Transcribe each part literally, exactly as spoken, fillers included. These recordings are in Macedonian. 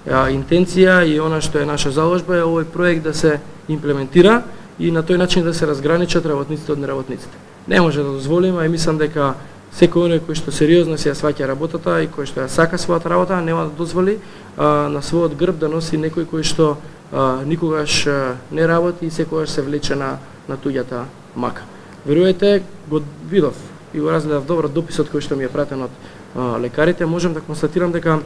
интенција и она што е наша заложба е овој проект да се имплементира и на тој начин да се разграничат работниците од неработниците. Не може да дозволиме, и мислам дека секој оној кој што сериозно се ја сваќа работата и кој што ја сака својата работа нема да дозволи а, на својот грб да носи некој кој што а, никогаш а, не работи и секогаш се влече на, на туѓата мака. Веруете, го видов и го разгледав добро дописот кој што ми е пратен од а, лекарите, можам да констатирам дека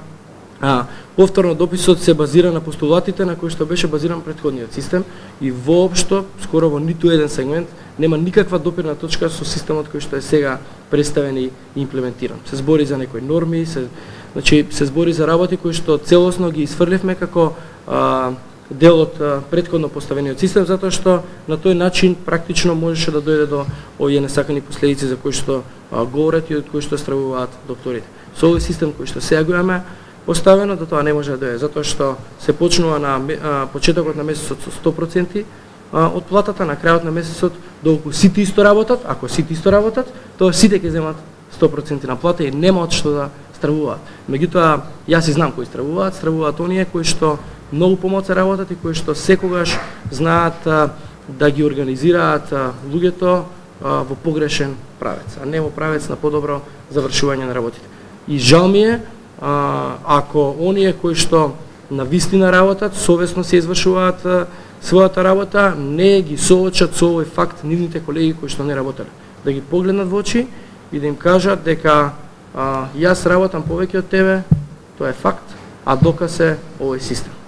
А, повторно дописот се базира на постулатите на кои што беше базиран претходниот систем и воопшто, скоро во ниту еден сегмент, нема никаква допирна точка со системот кој што е сега представен и имплементиран. Се збори за некои норми, се, значи, се збори за работи кои што целосно ги изфрливме како а, дел од а, претходно поставениот систем, затоа што на тој начин практично можеше да дојде до овие несакани последици за кои што а, говорат и од кои што стравуваат докторите. Со овој систем кој што сега го имаме поставено, до тоа не може да дојде, затоа што се почнува на а, почетокот на месецот со сто проценти а, од платата, на крајот на месецот, доколку сите исто работат, ако сите исто работат, тоа сите ќе земат сто проценти на плата и нема од што да стравуваат. Меѓутоа, јас и знам кои стравуваат, стравуваат оние кои што многу помоци работат и кои што секогаш знаат а, да ги организираат а, луѓето а, во погрешен правец, а не во правец на подобро завршување на работите. И жал ми е, А, ако оние кои што на вистина работат, совесно се извршуваат а, својата работа, не ги соочат со овој факт нивните колеги кои што не работеле. Да ги погледнат во очи и да им кажат дека а, јас работам повеќе од тебе, тоа е факт, а доказ е овој систем.